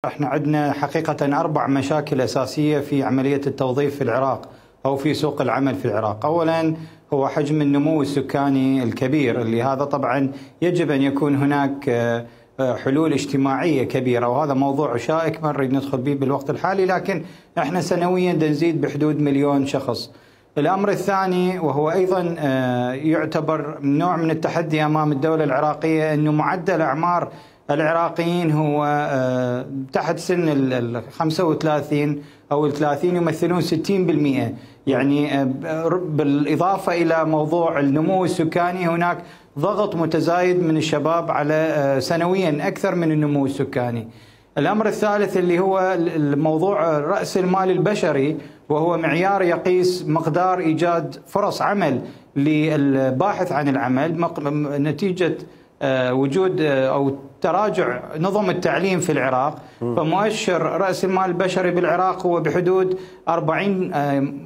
احنا عندنا حقيقة 4 مشاكل أساسية في عملية التوظيف في العراق أو في سوق العمل في العراق. أولا هو حجم النمو السكاني الكبير، اللي هذا طبعا يجب أن يكون هناك حلول اجتماعية كبيرة، وهذا موضوع شائك ما نريد ندخل به بالوقت الحالي، لكن احنا سنويا نزيد بحدود 1,000,000 شخص. الأمر الثاني وهو أيضا يعتبر نوع من التحدي أمام الدولة العراقية، أنه معدل أعمار العراقيين هو تحت سن ال 35 أو ال 30 يمثلون 60%، يعني بالإضافة إلى موضوع النمو السكاني هناك ضغط متزايد من الشباب على سنويا أكثر من النمو السكاني. الأمر الثالث اللي هو الموضوع رأس المال البشري، وهو معيار يقيس مقدار إيجاد فرص عمل للباحث عن العمل نتيجة وجود أو تراجع نظم التعليم في العراق. فمؤشر رأس المال البشري بالعراق هو بحدود 40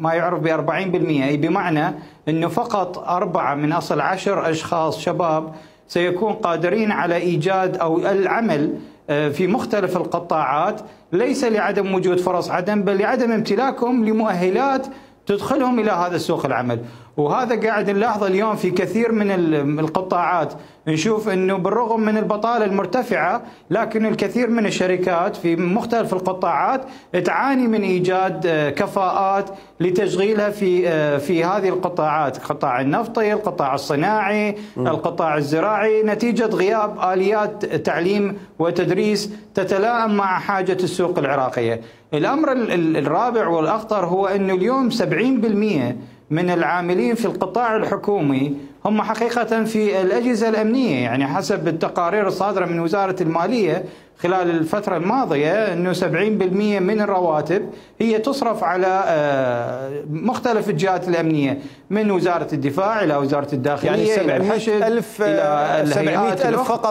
ما يعرف ب 40%، أي بمعنى أنه فقط 4 من أصل 10 أشخاص شباب سيكون قادرين على إيجاد أو العمل في مختلف القطاعات، ليس لعدم وجود فرص عمل بل لعدم امتلاكهم لمؤهلات تدخلهم إلى هذا السوق العمل. وهذا قاعد نلاحظه اليوم في كثير من القطاعات، نشوف أنه بالرغم من البطالة المرتفعة لكن الكثير من الشركات في مختلف القطاعات تعاني من إيجاد كفاءات لتشغيلها في هذه القطاعات، القطاع النفطي، القطاع الصناعي، القطاع الزراعي، نتيجة غياب آليات تعليم وتدريس تتلائم مع حاجة السوق العراقية. الأمر الرابع والأخطر هو أنه اليوم 70% من العاملين في القطاع الحكومي هم حقيقة في الأجهزة الأمنية، يعني حسب التقارير الصادرة من وزارة المالية خلال الفترة الماضية أنه 70% من الرواتب هي تصرف على مختلف الجهات الأمنية، من وزارة الدفاع إلى وزارة الداخلية، يعني إلى الحشد، إلى الهيئات فقط.